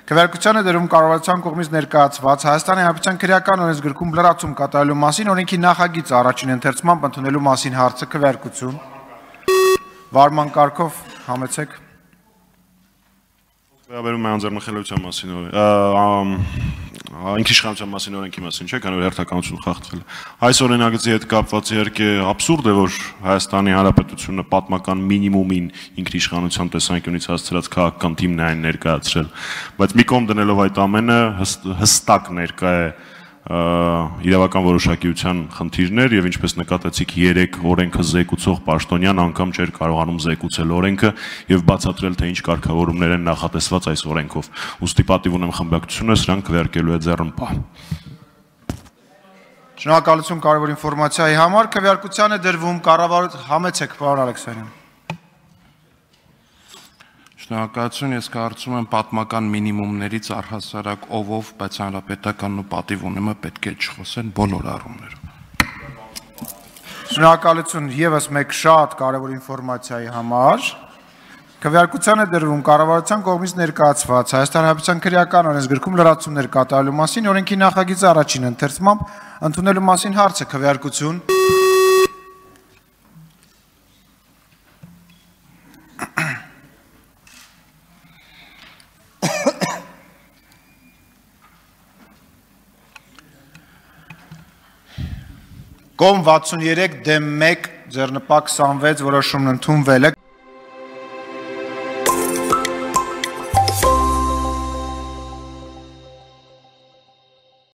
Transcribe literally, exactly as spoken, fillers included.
Քվեարկությանը դերում կառավարության կողմից ներկայացված Հայաստանի Հանրապետության քրեական օրենսգրքում լրացում կատարելու մասին օրենքի նախագիծը առաջին ընթերցմամբ ընդունելու մասին հարցը քվեարկություն։ Վարման կարգով համեցեք։ Վերաբերում է անձեռնմխելիության մասին ինքնիշխանության մասին օրենքի մասին չէ, քանի որ հերթականություն խախտվել է։ Այս օրենագծի հետ կապված իհարկե աբսուրդ է, որ Հայաստանի Հանրապետությունը պատմական մինիմումին ինքնիշխանության տեսանկյունից հասցրած քաղաքական թիմն է այն ներկայացրել, բայց մի կողմ դնելով այդ ամենը հստակ ներկա է իրավական որոշակիության խնդիրներ եւ ինչպես նկատեցիք երեք օրենքը զեկուցող պաշտոնյան անգամ չէր կարողանում զեկուցել օրենքը եւ բացատրել թե ինչ կարգավորումներ են նախատեսված այս օրենքով։ Ուստի պատիվ ունեմ խմբակցությունը սրանք քվեարկելու է ձեռնպահ։ Շնորհակալություն կարևոր ինֆորմացիայի համար։ Քվեարկության է դրվում կառավարության համեցեք, պարոն Ալեքսանյան։ Շնորհակալություն, ես կարծում եմ պատմական մինիմումներից առհասարակ ով, բայց հանրապետականն ու պատիվ ունեմը պետք է չխոսեն բոլոր առումներով։ Շնորհակալություն եւս մեկ շատ կարևոր ինֆորմացիայի համար։ Քվեարկության է դրվում կառավարության կողմից ներկայացված Հայաստանի Հանրապետության քրեական օրենսգրքում լրացումներ կատարելու մասին օրենքի նախագիծը առաջին ընթերցմամբ ընդունելու մասին հարցը քվեարկություն։ Կողմ վաթսուներեք դեմ մեկ ձեռնպահ քսանվեց որոշումն ընդունվել է։